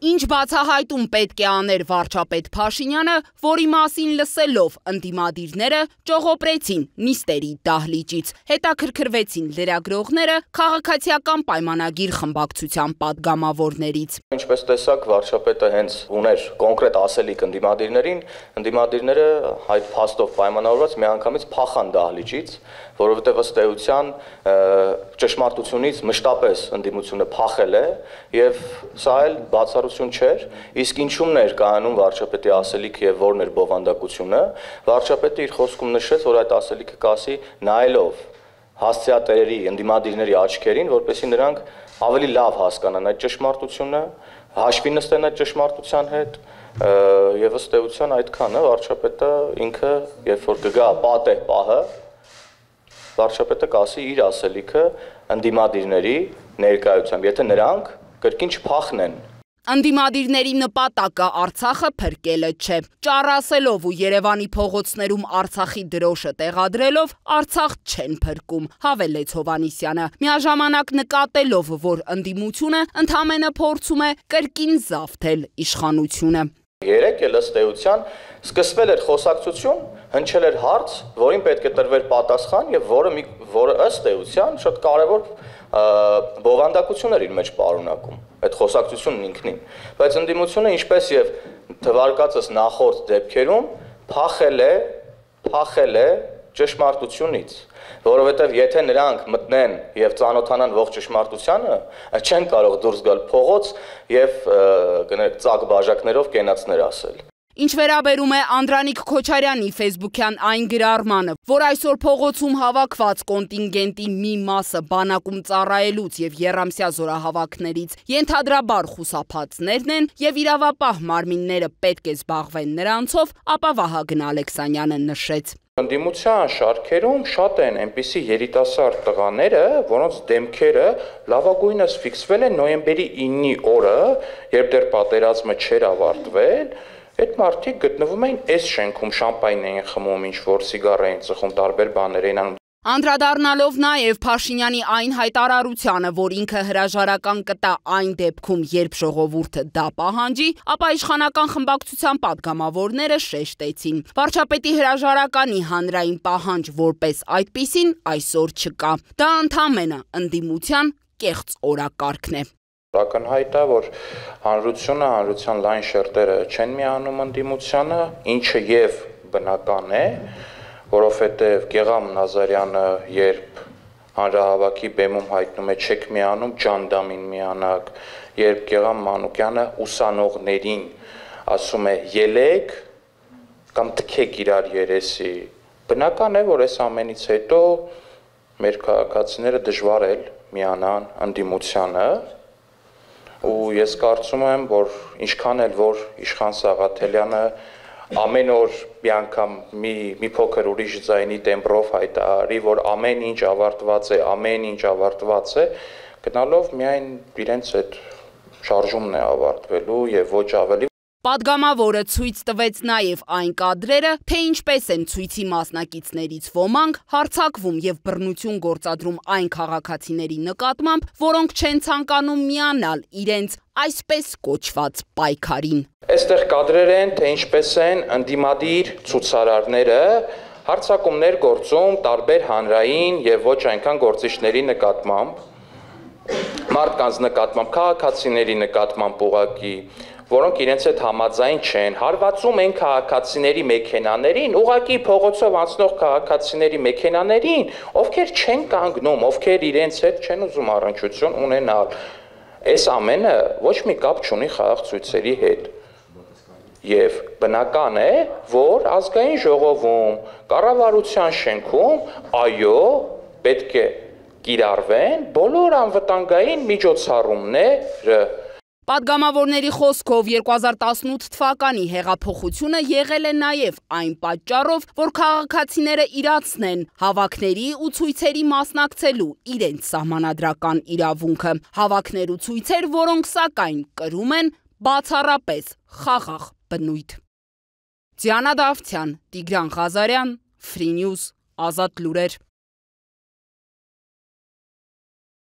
Ինչ բացահայտում պետք է աներ վարչապետ Փաշինյանը, որի մասին լսելով ընդդիմադիրները ճողոպրեցին նիստերի դահլիճից, հետաքրքրվեցին լրագրողները քաղաքացիական պայմանագիր խմբակցության պատգամավորներից։ Ինչպես տեսակ, վարչապետը հենց ուներ կոնկրետ ասելիք ընդդիմադիրներին, ընդդիմադիրները այդ փաստով պայմանավորված միանգամից փախան դահլիճից, որովհետև ըստ էության ճշմարտությունից մշտապես ընդդիմությունը փախել է եւ սա էլ բացառություն չէր, իսկ ինչումն էր կայանում վարչապետի ասելիքը եւ որն էր բովանդակությունը, վարչապետը իր խոսքում նշեց, որ այդ ասելիքը կասի նայելով հասցեատերերի, ընդդիմադիրների աչքերին, որպեսզի նրանք ավելի լավ հասկանան այդ ճշմարտությունը, հաշվի նստեն այդ ճշմարտության հետ եւ ըստ էության այդքանը վարչապետը ինքը երբ որ կգա պատեհ պահը վարչապետը կասի իր ասելիքը ընդդիմադիրների ներկայությամբ, եթե նրանք կրկին չփախնեն։ Ընդդիմադիրների նպատակը Արցախը փրկելը չէ, ճառասելով ու Երևանի փողոցներում Արցախի դրոշը տեղադրելով Արցախ չեն փրկում, հավելեց Հովհաննիսյանը, միաժամանակ նկատելով, որ ընդդիմությունը ընդամենը փորձում է կրկին զավթել իշխանությունը։ Երեկ էլ ըստ էության սկսվել էր խոսակցություն, հնչել էր հարց, որին պետք է տրվեր պատասխան եւ որը ըստ էության շատ կարեւոր բովանդակություն էր իր մեջ պարունակում այդ խոսակցությունն ինքնին, բայց ընդդիմությունը ինչպես եւ թվարկածս նախորդ դեպքերում փախել է ճշմարտությունից, որովհետև եթե նրանք մտնեն եւ ծանոթանան ողջ ճշմարտությանը, չեն կարող դուրս գալ փողոց եւ գներեք ծակ բաժակներով կենացներ ասել։ Ինչ վերաբերում է Անդրանիկ Քոչարյանի ֆեյսբուքյան այն գրառմանը, որ այսօր փողոցում հավաքված կոնտինգենտի մի մասը բանակում ծառայելուց եւ եռամսյա զորահավաքներից ենթադրաբար խուսափածներն են եւ իրավապահ մարմինները պետք է զբաղվեն նրանցով, ապա Վահագն Ալեքսանյանը նշեց. Ընդդիմության շարքերում շատ են այնպիսի երիտասարդ տղաները, որոնց դեմքերը լավագույնս ֆիքսվել են նոյեմբերի 9-ի օրը, երբ դեռ պատերազմը չէր ավարտվել, այդ մարդիկ գտնվում էին այս շենքում, շամպայն էին խմում, ինչ-որ սիգար էին ծխում, տարբեր բաներ էին անում։ Անդրադառնալով նաև Փաշինյանի այն հայտարարությանը, որ ինքը հրաժարական կտա այն դեպքում, երբ ժողովուրդը դա պահանջի, ապա իշխանական խմբակցության պատգամավորները շեշտեցին. վարչապետի հրաժարականի հանրային պահանջ որպես այդպիսին այսօր չկա։ Դա ընդամենը ընդդիմության կեղծ օրակարգն է։ Ակնհայտ է, որ հանրության լայն շերտերը չեն միանում ընդդիմությանը, ինչը եւ բնական է, որովհետեւ Գեգամ Նազարյանը երբ հանրահավաքի բեմում հայտնում է չեք միանում, ջանդամին միանակ, երբ Գեգամ Մանուկյանը ուսանողներին ասում է ելեք կամ թքեք իրար երեսի, բնական է, որ այս ամենից հետո մեր քաղաքացիները դժվար է միանան ընդդիմությանը ու ես կարծում եմ, որ ինչքան էլ որ Իշխան Սաղաթելյանը ամեն օր մի անգամ մի փոքր ուրիշ ձայնի տեմբրով հայտարարի, որ ամեն ինչ ավարտված է, գնալով միայն իրենց այդ շարժումն է ավարտվելու եւ ոչ ավելի։ Պատգամավորը ցույց տվեց նաև այն կադրերը, թե ինչպես են ցույցի մասնակիցներից ոմանք հարձակվում եւ բռնություն գործադրում այն քաղաքացիների նկատմամբ, որոնք չեն ցանկանում միանալ իրենց այսպես կոչված պայքարին։ Այստեղ կադրեր են, թե ինչպես են ընդդիմադիր ցուցարարները հարձակումներ գործում տարբեր հանրային եւ ոչ այնքան գործիչների նկատմամբ, մարդկանց նկատմամբ, քաղաքացիների նկատմամբ ուղղակի, որոնք իրենց հետ համաձայն չեն, հարվածում են քաղաքացիների մեքենաներին, ուղղակի փողոցով անցնող քաղաքացիների մեքենաներին, ովքեր չեն կանգնում, ովքեր իրենց հետ չեն ուզում առնչություն ունենալ։ Այս ամենը ոչ մի կապ չունի խաղաղ ցույցերի հետ։ Եվ բնական է, որ ազգային ժողովում, կառավարության շենքում, այո, պետք է կիրառվեն բոլոր անվտանգային միջոցառումները։ Պատգամավորների խոսքով 2018 թվականի հեղափոխությունը եղել է նաև այն պատճառով, որ քաղաքացիները իրացնեն հավաքների ու ցույցերի մասնակցելու իրենց սահմանադրական իրավունքը, հավաքներ ու ցույցեր, որոնք սակայն կրում են բացառապես խաղաղ բնույթ։ Դիանա Դավթյան, Տիգրան Ղազարյան, Free News, Ազատ լուրեր։